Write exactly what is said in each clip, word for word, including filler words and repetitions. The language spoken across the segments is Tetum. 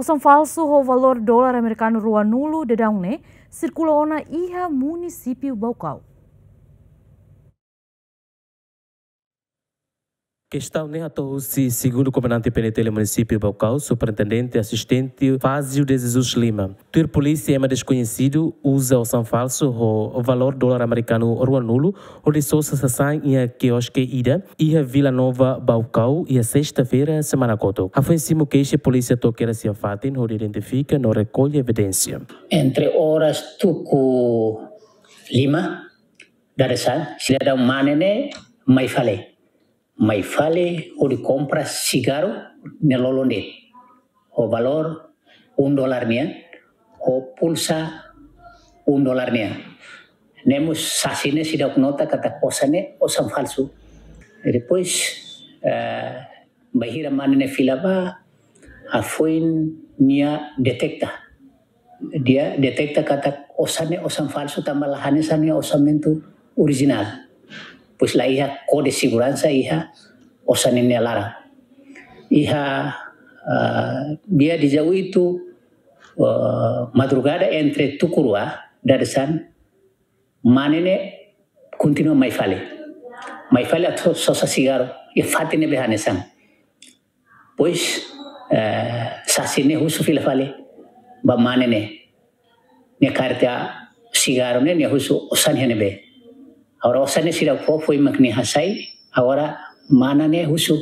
Osan falsu ho valór dolar amerikanu ruanulu daudaun ne'e sirkula ona iha munisípiu Baucau. Kestaun ne'e hato'o husi segundu komandante P N T L munisípiu Baucau, superintendente asistente Fazio de Jesus Lima. Tuir polísia, ema deskoñesidu uza osan falsu ho valór dolar amerikanu ruanulu hodi sosa sasán iha kioske ida iha Vila Nova, Baucau, iha sesta-feira semana kotuk. Hafoin simu keixa, polísia to'o kedas iha fatin hodi identifika no rekolla evidénsia. Entre oras tuku lima dadeer-saan, sidadaun mane ne'e mai fali. Mai fali hodi kompra sigarru ne'e lolon de'it. Ho valór un dolar nian, ho pulsa un dolar nian. Ne'e mós sasin ne'e seidauk nota katak osan ne'e osan falsu. Depois, eh, bainhira mane ne'e fila ba, hafoin nia deteta. Nia deteta katak osan ne'e osan falsu tanba la hanesan nia orsamentu orijinál. Pois la iha kode seguransa iha osan ne'e nia laran. Iha, ah, dia dezoito, ah, madrugada entre tuku rua dadeer-saan, mane ne'e kontinua mai fali. Mai fali atu sosa sigarru iha fatin ne'ebé hanesan. Pois, eh, sasin ne'e husu fila fali ba mane ne'e. Nia kaer tiha sigarru ne'e, nia husu osan iha ne'ebé. Agora osan ne'e seidauk fó, foin mak nia hasai. Agora mane ne'e husu: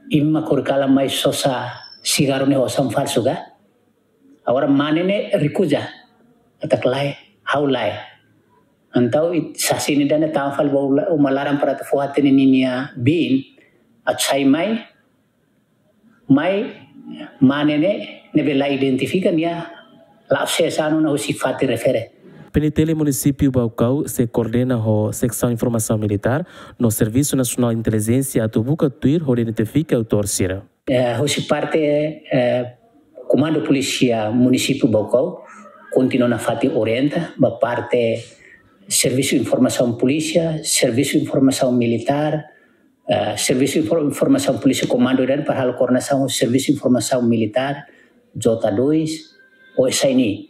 "Imi mak horikalan mai sosa sigarru ne'e osan falsu ka?" Agora mane ne'e rekuza katak lae, ha'u lae. Entaun it-, sasin ida-ne'e tama fali ba uma laran para atu fó hatene ninia biin atu sai mai, mai mane ne'e ne'ebé la identifika nia la'o sees an ona husi fatin refere. P N T L munisípiu Baucau sei koordena ho Seksaun Informasaun Militár no Servisu Nasionál Intelijénsia atu buka tuir hodi identifika autór sira. Eh, husi parte, eh, Komandu Polísia Munisípiu Baucau kontinua nafatin orienta ba parte Servisu Informasaun Polísia, Servisu Informasaun Militár, eh, Servisu Infor-, Informasaun Polísia Komandu dan para halo koordenasaun Servisu Informasaun Militár, J dois, O S I N I,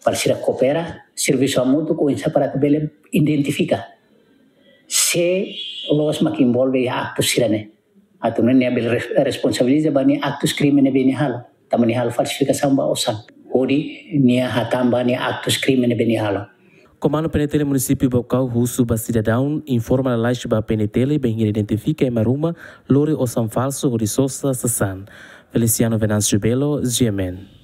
para sira koopera, servisu hamutuk oinsá para atu bele identifika sé loos mak envolve iha aktu sira-ne'e. Atu nune'e nia bele res-, responsabiliza ba nia aktus krime ne'ebé nia halo. Tanba nia halo falsifikasaun ba osan. Hodi nia hatán ba nia aktus krime ne'ebé nia halo. Komandu P N T L Munisípiu Baucau husu ba sidadaun informa lalais ba P N T L bainhira identifika ema ruma lori osan falsu hodi sosa sasán. Feliciano Venâncio Belo, G M N.